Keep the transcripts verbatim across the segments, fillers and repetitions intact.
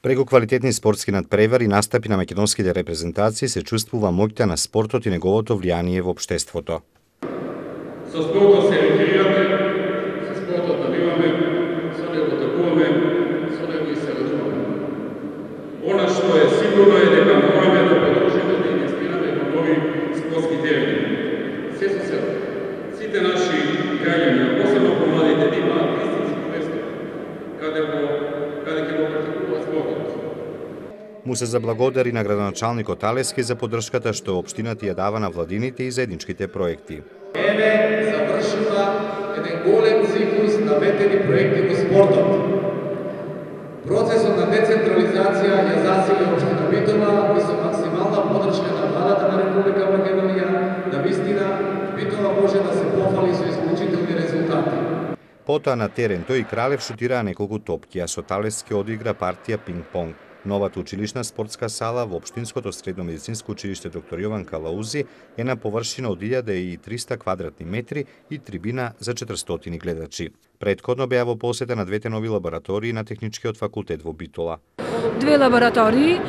Преку квалитетни спортски надпревари и настапи на македонските репрезентации се чувствува моќта на спортот и неговото влијание во општеството. Со спортот се рекреираме, со спортот набиваме, со него такуваме, со него и се радуваме. Она што е сигурно е дека мораме да продолжиме да инвестираме во нови спортски терени. Се со се, сите наши граѓани, посебно помладите, имаат истински место каде го каде ќе го практикуваат спортот. Му се заблагодари на градоначалникот Алески за поддршката што општината ја дава на владините и заедничките проекти. Еве завршува еден голем циклус на ветени проекти во спортот. Процесот на децентрализација ја засили општина Битола и со максимална поддршка на владата на Република Македонија, навистина Битола може да се похвали со исклучителни резултати. Потоа на терен тој и Кралев шутираа неколку топки, а со Талески одигра партија пинг-понг. Новата училишна спортска сала во Општинското средно медицинско училиште доктор Јован Калаузи е на површина од илјада и триста квадратни метри и трибина за четиристотини гледачи. Претходно беа во посета на двете нови лаборатории на Техничкиот факултет во Битола. Две лаборатории,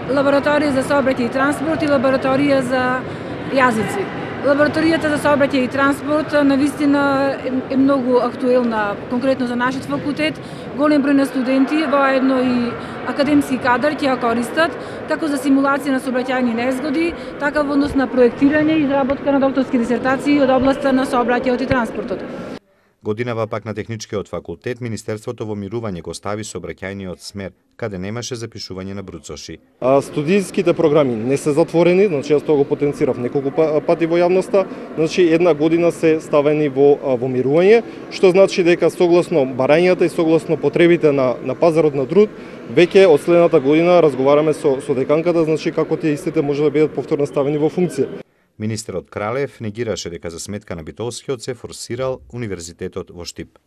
лабораторија за сообраќај и транспорт и лабораторија за јазици. Лабораторијата за сообраќај и транспорт навистина е многу актуелна, конкретно за нашиот факултет. Голем број на студенти, воедно и академски кадар ќе ја користат, како за симулација на сообраќајни незгоди, така во однос на проектирање и изработка на докторски дисертации од областа на сообраќајот и транспортот. Годинава пак на Техничкиот факултет Министерството во мирување го стави сообраќајниот смер, каде немаше запишување на бруцоши. А студијските програми не се затворени, значи јас тоа го потенцирав неколку пати во јавноста, значи една година се ставени во во мирување, што значи дека согласно барањата и согласно потребите на на пазарот на труд, веќе од следната година разговараме со со деканката, значи како тие истите може да бидат повторно ставени во функција. Министерот Кралев негираше дека за сметка на битолскиот се форсирал универзитетот во Штип.